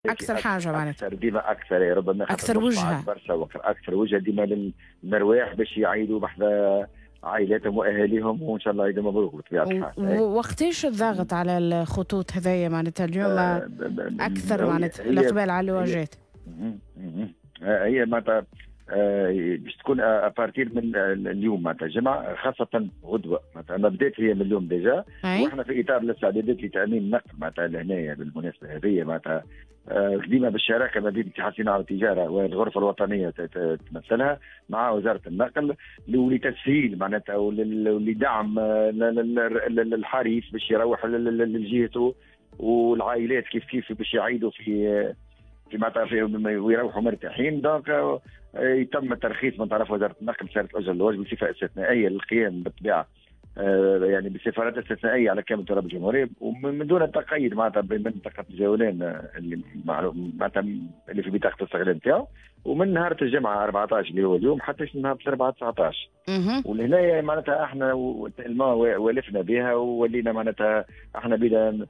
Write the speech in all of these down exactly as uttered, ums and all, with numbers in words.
اكثر حاجة معناتها اكثر ديما اكثر، ربما اكثر وجهه برشا، اكثر وجهه ديما للمرواح باش يعيدوا بحذا عائلاتهم واهاليهم، وان شاء الله عيد مبروك بطبيعة الحال. وقتاش الضغط على الخطوط هذايا معناتها اليوم آه اكثر معناتها الاقبال على اللواجات؟ هي معناتها باش تكون à partir من اليوم معناتها الجمعة، خاصة غدوه معناتها ما بدات هي من اليوم déjà، واحنا في اطار الاستعدادات لتامين النقل معناتها لهنايا بالمناسبة هذه معناتها ديما بالشراكة ما بين اتحاد الصناعة والتجارة والغرفة الوطنية تمثلها مع وزارة النقل لتسهيل معناتها ولدعم الحريف باش يروح لجهته، والعائلات كيف كيف باش يعيدوا في في معناتها ويروحوا مرتاحين. donc يتم الترخيص من طرف وزارة النقل سيارة الاجرة اللواج بصفة استثنائية للقيام بالطبيعة يعني بسفارات استثنائية على كامل تراب الجمهورية، ومن دون التقييد معناتها بمنطقة الجولان اللي معناتها اللي في بطاقة الاستغلال نتاعو، ومن نهار الجمعة أربعطاش اللي هو اليوم حتى نهار الاربعاء تسعطاش. ولهنا معناتها احنا ولفنا بها وولينا معناتها احنا بدا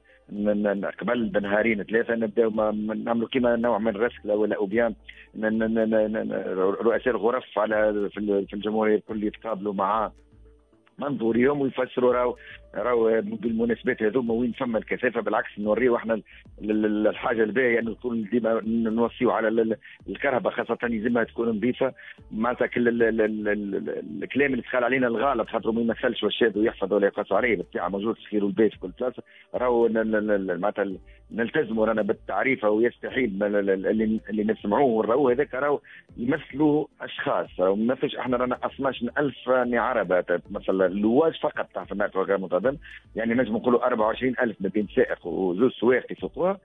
قبل بنهارين ثلاثة نبداو نعملوا كيما نوع من رسله ولا ou bien رؤساء الغرف على في الجمهورية الكل يتقابلوا مع منظوريهم ويفسروا راهو راهو بالمناسبات هذوما وين فما الكثافة. بالعكس نوريو احنا الحاجة الباهيه انه نكون ديما نوصيو على الكرهبه خاصة يلزمها تكون نظيفة معناتها كل الكلام اللي دخل علينا الغالط خاطر ما يمثلش والشاد ويحفظ ولا يقاس عليه بالطبيعة موجود الخير والباهي في كل بلاصة، راهو معناتها نلتزموا رانا بالتعريفه ويستحيل اللي اللي نسمعوه ونراوه هذاك راهو يمثلوا اشخاص، راهو ما يمثلش احنا رانا اثناش ألف عربه تمثل اللواج فقط تاع في النقل غير منتظم، يعني نجم نقولوا أربعة وعشرين ألف ما بين سائق وزوج سواق يسوقوها.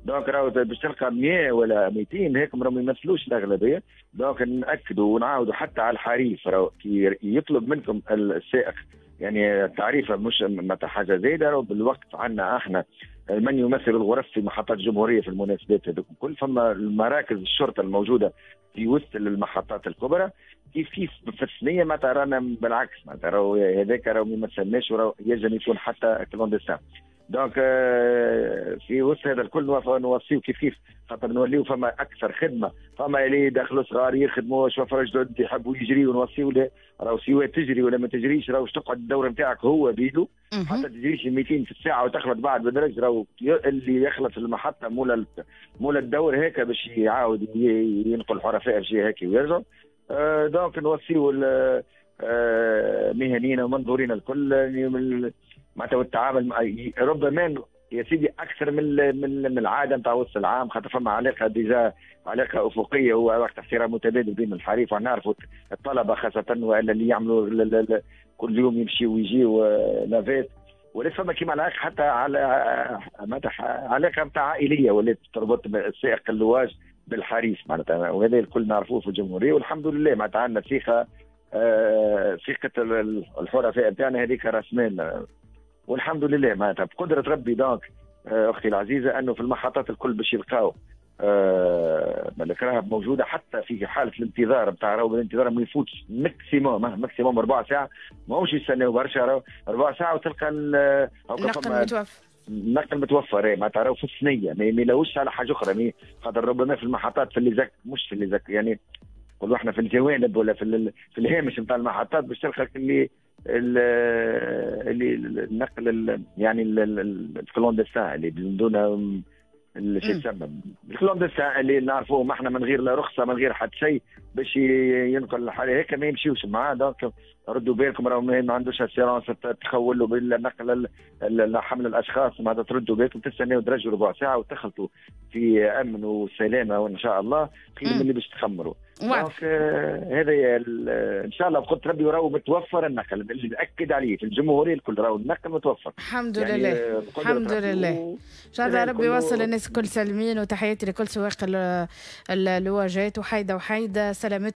donc راهو باش تلقى مية ولا ميتين هيك راهم ما يمثلوش الاغلبية. donc ناكدوا ونعاودوا حتى على الحريف راهو كي يطلب منكم السائق يعني التعريفه مش معناتها حاجة زايدة، راهو بالوقت عندنا احنا من يمثل الغرف في محطات الجمهورية في المناسبات هذوك الكل، فما المراكز الشرطة الموجودة في وسط المحطات الكبرى كيف كيف في الثنية معناتها رانا بالعكس معناتها راهو هذاك راهو ما يمثلناش وراهو ينجم يكون حتى clandestin. donc في وسط هذا الكل نوصيو كيف كيف خاطر نوليو فما اكثر خدمة، فما اللي دخلوا صغار يخدموا شوفر جدد يحبوا يجريوا نوصيو له راهو سواء تجري ولا ما تجريش راهو تقعد الدورة نتاعك هو بيدو حتى تجريش ميتين في الساعة وتخلط بعد بدرج، راهو اللي يخلط في المحطة مولا مولا الدور هيك باش يعاود ينقل حرفاء في هيك ويرجع. donc نوصيو مهنيين ومنظورين الكل معناتها والتعامل ربما يا سيدي اكثر من من العادة نتاع وسط العام، خاطر فما علاقة déjà علاقة افقية ووقت احترام متبادل بين الحريف، ونعرفوا الطلبة خاصة والا اللي يعملوا كل يوم يمشيوا ويجيوا navette، ولات فما كيما علاقة حتى على معناتها علاقة نتاع عائلية ولات تربط السائق اللواج بالحريف معناتها، وهذا الكل نعرفوه في الجمهورية والحمد لله معناتها عندنا ثقة آه ثقة الحرفاء نتاعنا هذيك راس مال والحمد لله معناتها بقدره ربي. donc اختي العزيزة انه في المحطات الكل باش يلقاو آه الكراهب موجودة حتى في حاله الانتظار نتاع راهو الانتظار ما يفوتش maximum maximum ربع ساعة، ماهوش يستناو برشا راهو ربع ساعة وتلقى النقل متوفر، النقل متوفر معناتها راهو في الثنية ما يلاوش على حاجة اخرى، خاطر ربما في المحطات في les axes مش في les axes يعني نقولوا احنا في الجوانب ولا في في الهامش نتاع المحطات باش تلقى اللي اللي النقل يعني ال clandestin اللي دون شو يسمى ال clandestin اللي نعرفوه ما احنا من غير لا رخصه من غير حتى شيء باش ينقل الحالة هيك ما يمشيوش معاه. donc ردوا بالكم راهو ما عندوش assurance تخول له بالنقل حمل الاشخاص، معناتها تردوا بالكم تستناو درجوا ربع ساعة وتخلطوا في امن وسلامه وان شاء الله خير من اللي باش تخمروا. donc هذا ان شاء الله بقدرة ربي راهو متوفر النقل اللي ناكد عليه في الجمهورية الكل راهو النقل متوفر الحمد يعني لله الحمد لله. ان شاء الله ربي يوصل الناس الكل سالمين، وتحياتي لكل سواق اللواجات وحيده وحيده سلامتكم.